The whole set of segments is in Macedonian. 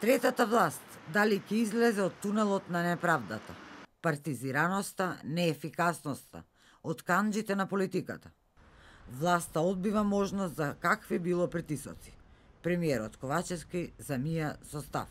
Третата власт, дали ќе излезе од тунелот на неправдата, партизираноста, неефикасноста, од канџите на политиката. Власта одбива можност за какви било притисоци. Премиерот Ковачевски замија со став.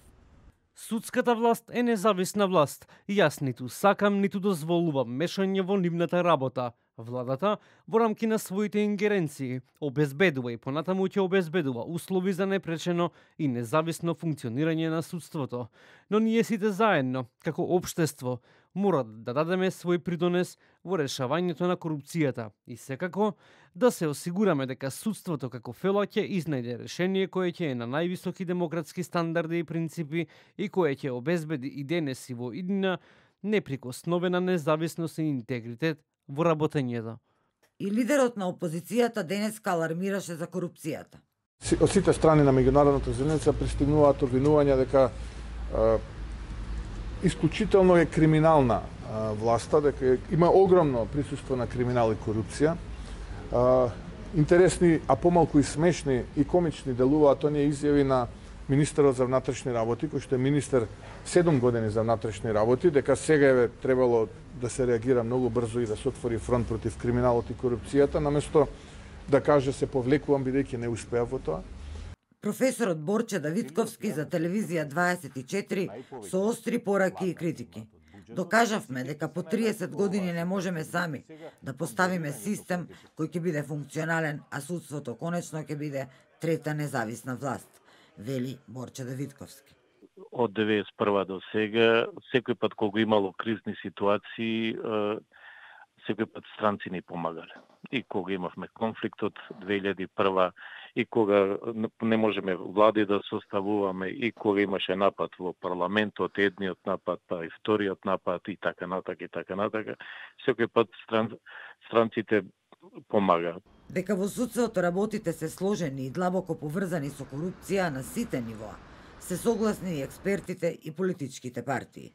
Судската власт е независна власт и јас ниту сакам, ниту дозволувам мешање во нивната работа. Владата, во рамки на своите ингеренции, обезбедува и понатаму ќе обезбедува услови за непречено и независно функционирање на судството. Но ние сите заедно, како општество, мора да дадеме свој придонес во решавањето на корупцијата и секако да се осигураме дека судството како фела ќе изнајде решение кое ќе е на највисоки демократски стандарди и принципи и кое ќе обезбеди и денес и во иднина неприкосновена независност и интегритет во работењето. И лидерот на опозицијата денеска алармираше за корупцијата. Од сите страни на меѓународната заедница пристигнуваат обвинувања дека исклучително е криминална власта, дека има огромно присуство на криминал и корупција. Интересни, а помалку и смешни и комични делуваат оние изјави на министерот за внатрешни работи, кој што е министер 7 години за внатрешни работи, дека сега е требало да се реагира многу брзо и да се отвори фронт против криминалот и корупцијата, наместо да каже се повлекувам бидејќи не успеав во тоа. Професорот Борче Давидковски за телевизија 24 со остри пораки и критики. Докажавме дека по 30 години не можеме сами да поставиме систем кој ќе биде функционален, а судството конечно ќе биде трета независна власт, вели Борче Давидковски. Од 91 до сега, секој пат кога имало кризни ситуации, секој пат странци ни помагале. И кога имавме конфликтот 2001, и кога не можеме влади да составуваме, и кога имаше напад во парламентот, едниот напад, па и вториот напад, и така натака, и така натака, секој пат странците помагаат. Дека во судството работите се сложени и длабоко поврзани со корупција на сите нивоа, се согласни и експертите и политичките партии.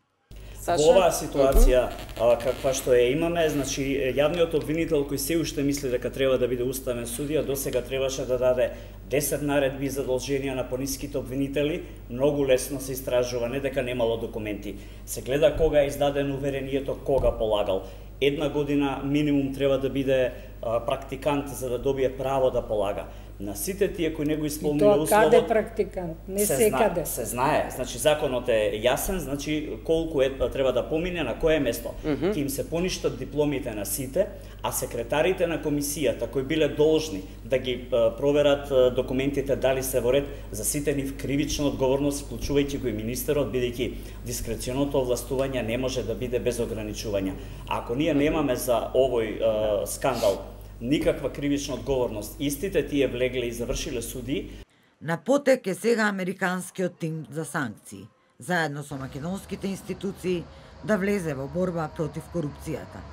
Во оваа ситуација каква што ја имаме, значи јавниот обвинител кој се уште мисли дека треба да биде уставен судија, досега требаше да даде 10 наредби и задолженија на пониските обвинители, многу лесно се истражува, не дека немало документи. Се гледа кога е издадено уверението, кога полагал. 1 година минимум треба да биде практикант за да добие право да полага. На сите тие кои не го исполниле условот... Каде практикант? Не секаде. Се знае. Значи, законот е јасен, значи, колку треба да помине, на кое место. Ќе им се поништат дипломите на сите, а секретарите на комисијата, кои биле должни да ги проверат документите дали се во ред, за сите нив кривична одговорност, вклучувајќи го и министерот, бидејќи дискреционото овластување не може да биде без ограничувања. Ако ние немаме за овој скандал никаква кривична одговорност, истите тие влегле и завршиле суди. На потек е сега американскиот тим за санкции, заедно со македонските институции, да влезе во борба против корупцијата.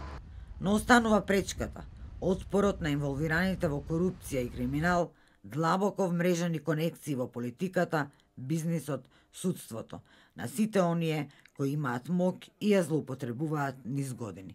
Но останува пречката, отпорот на инволвираните во корупција и криминал, длабоко вмрежани конекции во политиката, бизнисот, судството, на сите оние кои имаат мок и ја злоупотребуваат низ години.